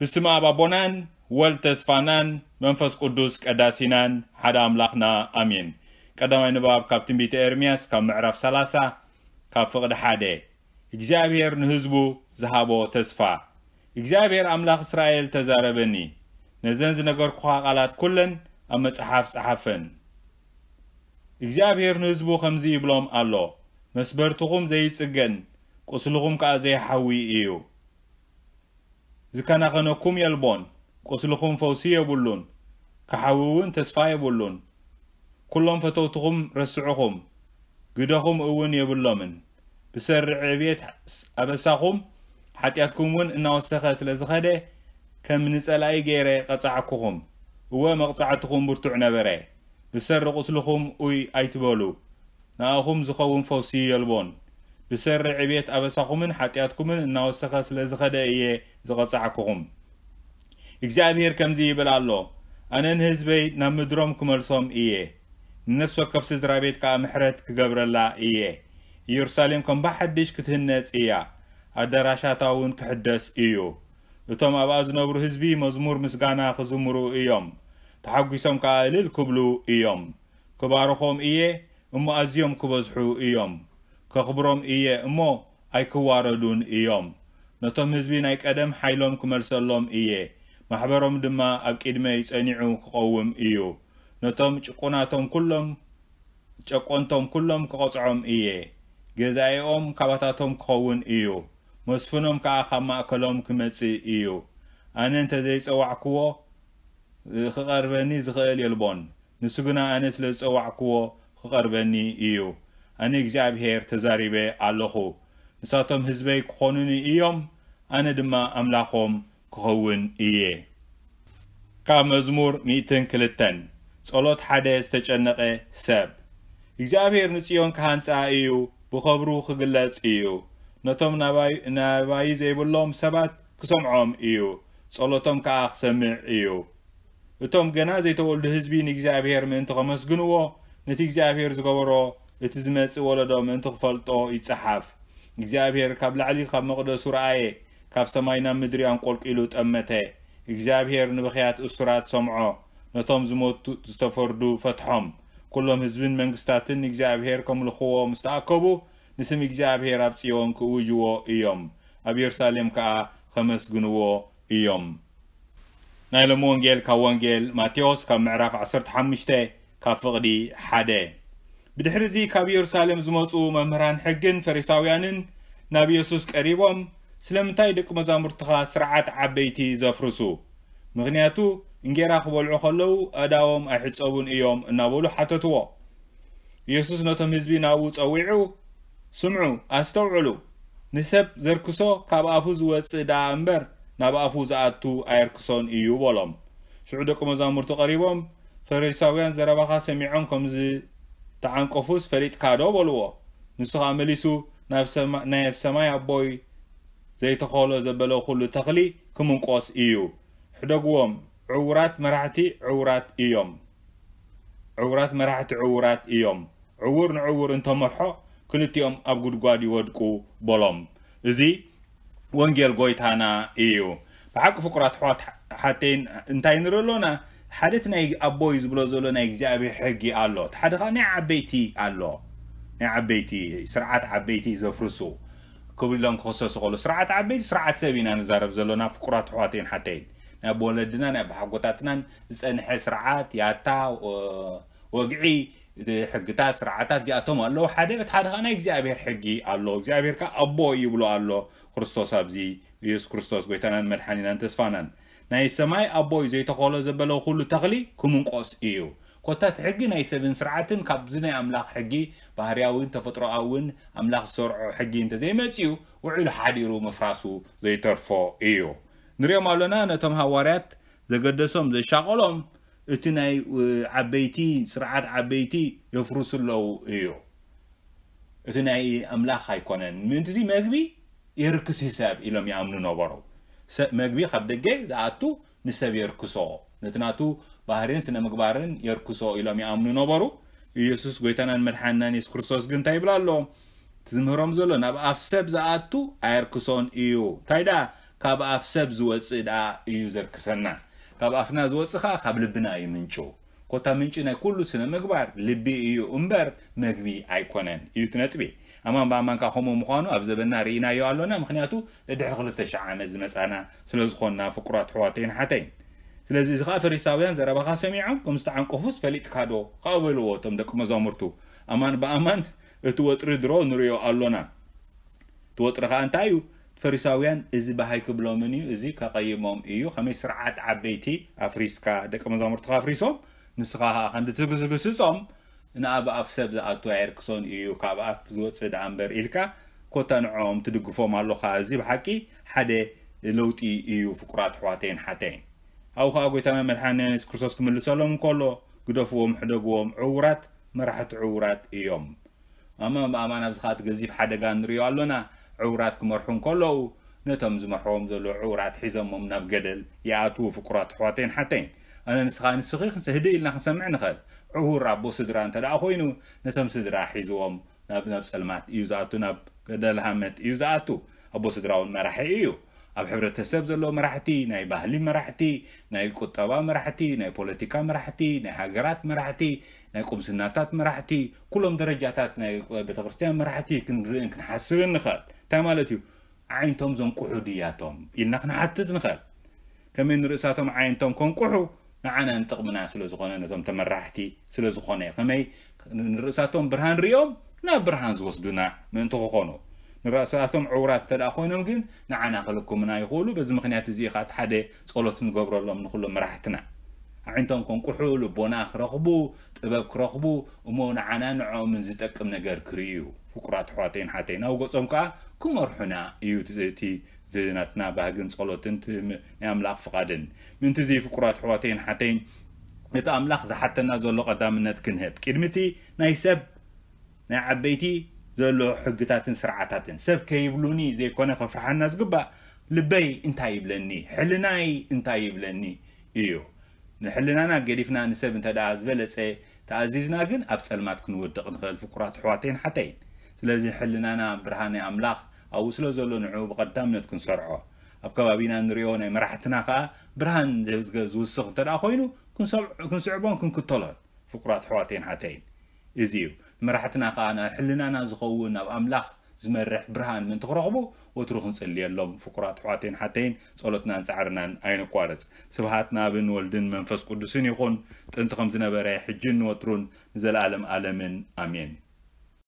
ብስም ኣብ ኣቦናን ወልድ ተስፋናን መንፈስ ቅዱስ ቀዳሲናን ሓደ ኣምላኽና ኣሜን። ቀዳማይ ንባብ ካብ ትንቢተ ኤርምያስ ካብ ምዕራፍ ሰላሳ ካብ ፍቕዲ ሓደ። እግዚኣብሔር ንህዝቡ ዝሃቦ ተስፋ። እግዚኣብሔር ኣምላኽ እስራኤል ተዛረበኒ፣ ነዘን ዝነገርኩኻ ቃላት ኩለን ኣብ መጽሓፍ ጸሓፈን። እግዚኣብሔር ንህዝቡ ከምዚ ይብሎም ኣሎ፣ መስበርትኹም ዘይጽገን፣ ቁስልኹም ከኣ ዘይሓዊ እዩ። ዝከናኸነኩም የልቦን፣ ቁስልኹም ፈውሲ የብሉን፣ ክሓዊ እውን ተስፋ የብሉን። ኩሎም ፈተውትኹም ረስዑኹም፣ ግደኹም እውን የብሎምን። ብሰሪ ዕብየት ኣበሳኹም፣ ሓጢኣትኩም እውን እናወሰኸ ስለ ዝኸደ፣ ከም ንጸላኢ ገይረ ቀጻዕኩኹም። እወ፣ መቕጻዕትኹም ብርቱዕ ነበረ። ብሰሪ ቁስልኹም ኡይ ኣይትበሉ። ንኣኹም ዝኸውን ፈውሲ የልቦን። ብሰሪ ዕብየት ኣበሳኹምን ሓጢኣትኩምን እናወሰኸ ስለ ዝኸደ እየ ዝቐጻዕኩኹም። እግዚኣብሔር ከምዚ ይብል ኣሎ፣ ኣነ ንህዝበይ ናብ ምድሮም ክመልሶም እየ፣ ንነፍሲ ወከፍ ስድራ ቤት ከኣ ምሕረት ክገብረላ እየ። ኢየሩሳሌም ከም ብሓድሽ ክትህነጽ እያ፣ ኣዳራሻታ እውን ክሕደስ እዩ። እቶም ኣብኣ ዝነብሩ ህዝቢ መዝሙር ምስጋና ክዝምሩ እዮም፣ ተሓጒሶም ከኣ እልል ክብሉ እዮም። ክባርኾም እየ እሞ ኣዝዮም ክበዝሑ እዮም፣ ከኽብሮም እየ እሞ ኣይክዋረዱን እዮም። ነቶም ህዝቢ ናይ ቀደም ሓይሎም ክመልሰሎም እየ፣ ማሕበሮም ድማ ኣብ ቅድመይ ጸኒዑ ክቐውም እዩ። ነቶም ጭቁናቶም ኩሎም ጨቆንቶም ኩሎም ክቐጽዖም እየ። ገዛኢኦም ካባታቶም ክኸውን እዩ፣ መስፍኖም ከኣ ካብ ማእከሎም ክመጽእ እዩ። ኣነ እንተ ዘይጸዋዕክዎ ክቐርበኒ ዝኽእል የልቦን፣ ንሱ ግና ኣነ ስለ ዝጸዋዕክዎ ክቐርበኒ እዩ። ኣነ እግዚኣብሔር ተዛሪበ ኣለኹ። ንሳቶም ህዝበይ ክኾኑኒ እዮም፣ ኣነ ድማ ኣምላኾም ክኸውን እየ። ካብ መዝሙር ሚእትን ክልተን። ጸሎት ሓደ ዝተጨነቐ ሰብ። እግዚኣብሔር ንጽዮን ክሃንጻ እዩ፣ ብኸብሩ ክግለጽ እዩ። ነቶም ናባይ-፣ ናባይ ዘይብሎም ሰባት ክሰምዖም እዩ፣ ጸሎቶም ከኣ ክሰምዕ እዩ። እቶም ገና ዘይተወልዱ ህዝቢ ንእግዚኣብሔር ምእንቲ ከመስግንዎ፣ ነቲ እግዚኣብሔር ዝገበሮ፣ እቲ ዝመጽእ ወለዶ ምእንቲ ክፈልጦ ይጸሓፍ። እግዚኣብሔር ካብ ላዕሊ ካብ መቕደሱ ረኣየ፣ ካብ ሰማይ ናብ ምድሪ ኣንቆልቂሉ ጠመተ። እግዚኣብሔር ንብኽያት እሱራት ሰምዖ፣ ነቶም ዝሞቱ ዝተፈርዱ ፈትሖም። ኩሎም ህዝብን መንግስታትን ንእግዚኣብሔር ከምልኽዎ ምስ ተኣከቡ፣ ንስም እግዚኣብሔር ኣብ ጽዮን ክእውጅዎ እዮም፣ ኣብ የሩሳሌም ከኣ ከመስግንዎ እዮም። ናይ ሎሚ ወንጌል ካብ ወንጌል ማቴዎስ ካብ ምዕራፍ ዓሰርተ ሓሙሽተ ካብ ፍቕዲ ሓደ። ብድሕሪ እዚ ካብ የሩሳሌም ዝመጹ መምህራን ሕግን ፈሪሳውያንን ናብ የሱስ ቀሪቦም፣ "ስለምንታይ ደቂ መዛሙርትኻ ስርዓት ዓበይቲ ዘፍርሱ? ምኽንያቱ እንጌራ ክበልዑ ከለዉ ኣእዳዎም ኣይሕጸቡን እዮም" እናበሉ ሓተትዎ። የሱስ ነቶም ህዝቢ ናብኡ ጸዊዑ፣ "ስምዑ፣ ኣስተውዕሉ። ንሰብ ዘርክሶ ካብ ኣፉ ዝወጽእ ደኣ እምበር፣ ናብ ኣፉ ዝኣቱ ኣየርክሶን እዩ" በሎም። ሽዑ ደቂ መዛሙርቱ ቀሪቦም፣ "ፈሪሳውያን ዘረባኻ ሰሚዖም ከም ዝተዓንቀፉስ ፈሊጥካ ዶ?" በልዎ። ንሱ ኸኣ መሊሱ፣ "ናብ ሰማ-፣ ናይ ሰማይ ኣቦይ ዘይተኸሎ ዘበለ ኹሉ ተኽሊ ክምንቆስ እዩ። ሕደግዎም፣ ዕዉራት መራሕቲ ዕዉራት እዮም። ዕዉራት መራሕቲ ዕዉራት እዮም። ዕዉር ንዕዉር እንተመርሖ፣ ክልቲኦም ኣብ ጉድጓድ ይወድቁ" በሎም። እዚ ወንጌል ጎይታና እዩ። ብሓቂ ፍቁራት ኣሕዋት ሓተይን እንታይ ንርኢ ኣሎና? ሓደ እቲ ናይ ኣቦይ ዝብሎ ዘሎ ናይ እግዚኣብሔር ሕጊ ኣሎ። እቲ ሓደ ኸኣ ናይ ዓበይቲ ኣሎ። ናይ ዓበይቲ፣ ስርዓት ዓበይቲ ዘፍርሱ ክብሎም ክኸሰሱ ከሎ፣ ስርዓት ዓበይቲ፣ ስርዓት ሰብ ኢና ንዛረብ ዘሎና ፍቁራት ኣሕዋተይን ሓተይን። ናይ ኣቦ ወለድና፣ ናይ ኣቦሓጎታትናን ዝጸንሐ ስርዓት፣ ያታ፣ ወ-፣ ወግዒ፣ ሕግታት፣ ስርዓታት እዚኣቶም ኣለዉ። ሓደ፣ እቲ ሓደ ኸኣ ናይ እግዚኣብሔር ሕጊ ኣሎ። እግዚኣብሔር ከኣ ኣቦ ይብሎ ኣሎ። ክርስቶስ ኣብዚ፣ ኢየሱስ ክርስቶስ ጎይታናን መድሓኒናን ተስፋናን። ናይ ሰማይ ኣቦይ ዘይተኸሎ ዘበለ ኩሉ ተኽሊ ክምንቆስ እዩ። ኮታ እቲ ሕጊ ናይ ሰብን ስርዓትን ካብዚ ናይ ኣምላኽ ሕጊ ባህርያውን ተፈጥሮኣውን ኣምላኽ ዝሰርዖ ሕጊ እንተዘይመጽኡ፣ ውዒሉ ሓዲሩ ምፍራሱ ዘይተርፎ እዩ። ንሪኦም ኣሎና ነቶም ሃዋርያት ዘገደሶም ዘሻቐሎም እቲ ናይ፣ እ፣ ዓበይቲ ስርዓት ዓበይቲ የፍርሱ ኣለዉ እዩ። እቲ ናይ ኣምላኽ ኣይኮነን። ምእንቲ እዚ መግቢ የርክስ እዩ ሰብ ኢሎም ይኣምኑ ነበሩ። ሰ-፣ መግቢ ካብ ደገ ዝኣቱ ንሰብ የርክሶ፣ ነቲ ናቱ ባህርን ስነ ምግባርን የርክሶ ኢሎም ይኣምኑ ነበሩ። ኢየሱስ ጎይታናን መድሓንናን የሱስ ክርስቶስ ግን እንታይ ይብል ኣሎ? እቲ ዝምህሮም ዘሎ ናብ ኣፍ ሰብ ዝኣቱ ኣየርክሶን እዩ። እንታይ ደኣ ካብ ኣፍ ሰብ ዝወፅእ ደኣ እዩ ዘርክሰና። ካብ ኣፍና ዝወፅእ ኸዓ ካብ ልብና እዩ ምንጩ። ኮታ ምንጪ ናይ ኩሉ ስነ ምግባር ልቢ እዩ እምበር መግቢ ኣይኮነን እዩ እቲ ነጥቢ። ኣማን ብኣማን ከዓ ከምኡ ምዃኑ ኣብ ዘበና ርኢናዮ ኣሎና። ምኽንያቱ ድሕሪ ክልተ ሽሕ ዓመት ዝመፃና ስለ ዝኾንና ፍቁራት ኣሕዋተይን ሓተይን። ስለዚ እዚ ከዓ ፈሪሳውያን ዘረባኻ ሰሚዖም ከም ዝተዓንቀፉስ ፈሊጥካ ዶ ከዓ በልዎ እቶም ደቂ መዛሙርቱ። ኣማን ብኣማን እቲ ወጥሪ ድሮ ንሪኦ ኣሎና። እቲ ወጥሪ ከዓ እንታይ እዩ? ፈሪሳውያን እዚ በሃይ ክብሎምን እዩ፣ እዚ ከቐይሞም እዩ። ከመይ ስርዓት ዓበይቲ ኣፍሪስካ ደቂ መዛሙርትኻ ኣፍሪሶም ንስኻ ከዓ ክንዲ ትግስግስጾም ንኣብ ኣፍ ሰብ ዝኣቱ ኣየርክሶን እዩ። ካብ ኣፍ ዝወፅእ ደኣ እምበር ኢልካ ኮታ ንዕኦም ትድግፎም ኣለኻ። እዚ ብሓቂ ሓደ ለውጢ እዩ ፍቁራት ኣሕዋተይን ሓተይን። ኣብኡ ከዓ ጎይታና መድሓኒና የሱስ ክርስቶስ ክምልሰሎም እንከሎ ግደፍዎም፣ ሕደግዎም፣ ዕውራት መራሕቲ ዕውራት እዮም። ኣማን ብኣማን ኣብዚ ከዓ እቲ ገዚፍ ሓደጋ ንሪኦ ኣሎና። ዕውራት ክመርሑ እንከለዉ ነቶም ዝመርሕዎም ዘለዉ ዕውራት ሒዞሞም ናብ ገደል ይኣትዉ። ፍቁራት ኣሕዋተይን ሓተይን ኣነ ንስኻ ንስኺ ክንሰ ህድእ ኢልና ክንሰምዕ ንኽእል። ዕውር ኣቦ ስድራ እንተ ደኣ ኮይኑ ነቶም ስድራ ሒዝዎም ናብ ናብ ጸልማት እዩ ዝኣቱ፣ ናብ ገደል ሃመት እዩ ዝኣቱ። ኣቦ ስድራ እውን መራሒ እዩ። ኣብ ሕብረተሰብ ዘለዉ መራሕቲ፣ ናይ ባህሊ መራሕቲ፣ ናይ ቁጠባ መራሕቲ፣ ናይ ፖለቲካ መራሕቲ፣ ናይ ሃገራት መራሕቲ፣ ናይ ቁምስናታት መራሕቲ፣ ኩሎም ደረጃታት ናይ ቤተክርስትያን መራሕቲ ክንርእን ክንሓስብን ንኽእል። እንታይ ማለት እዩ? ኣዒንቶም ዘንቁሑ ድያቶም ኢልና ክንሓትት ንኽእል። ከመይ ንርእሳቶም ኣዒንቶም ከንቁሑ? ንዓና ንጥቕምና ስለ ዝኾነ፣ ነቶም ተመራሕቲ ስለ ዝኾነ። ከመይ ንርእሳቶም ብርሃን ሪኦም ናብ ብርሃን ዝወስዱና ምእንቲ ክኾኑ። ንርእሳቶም ዕውራት እንተ ደኣ ኮይኖም ግን ንዓና ክልኩምና ይኽእሉ። በዚ ምኽንያት እዚ እዩ ከዓ እቲ ሓደ ጸሎት ንገብረሎም ንኹሎም መራሕትና። ኣዒንቶም ከንቁሑ፣ ልቦና ክረኽቡ፣ ጥበብ ክረኽቡ፣ እሞ ንዓና ንዕኦምን ዝጠቅም ነገር ክርእዩ። ፍቁራት ኣሕዋተይን ሓተይን፣ ናብ ገጾም ከዓ ክመርሑና እዩ እቲ፣ እቲ፣ እቲ ናትና ባህግን ጸሎትን እቲ ም-፣ ናይ ኣምላኽ ፍቓድን። ምእንቲ እዚ ፍቁራት ኣሕዋተይን ሓተይን፣ እቲ ኣምላኽ ዝሓተና ዘሎ ቀዳምነት ክንህብ፣ ቅድሚ እቲ ናይ ሰብ ናይ ዓበይቲ ዘሎ ሕግታትን ስርዓታትን፣ ሰብ ከይብሉኒ ዘይኮነ ከፍርሓና ዝግባእ፣ ልበይ እንታይ ይብለኒ፣ ሕልናይ እንታይ ይብለኒ እዩ። ንሕልናና ገዲፍና ንሰብ እንተ ደኣ ዝበለጸ ተኣዚዝና ግን ኣብ ጸልማት ክንወድቕ ንኽእል ፍቁራት ኣሕዋተይን ሓተይን። ስለዚ ሕልናና ብርሃን ናይ ኣምላኽ ኣብኡ ስለ ዘሎ ንዕኡ ብቐዳምነት ክንሰርዖ። ኣብ ከባቢና ንሪኦ ናይ መራሕትና ከኣ ብርሃን ዝገ-፣ ዝውስኽ እንተ ደኣ ኮይኑ ክንሰብ-፣ ክንስዕቦን ክንክተሎን ፍቁራት ኣሕዋተይን ሓተይን። እዚ እዩ። ንመራሕትና ከኣ ናብ ሕልናና ዝኸውን ናብ ኣምላኽ ዝመርሕ ብርሃን ምእንቲ ክረኽቡ ወትሩ ክንጽልየሎም ፍቁራት ኣሕዋተይን ሓተይን ጸሎትናን ጻዕርናን ኣይንቋረጽ። ስብሃት ንኣብን ወልድን መንፈስ ቅዱስን ይኹን፣ ጥንቲ ከም ዝነበረ፣ ሕጅን ንወትሩን ንዘለኣለም ኣለምን። ኣሜን።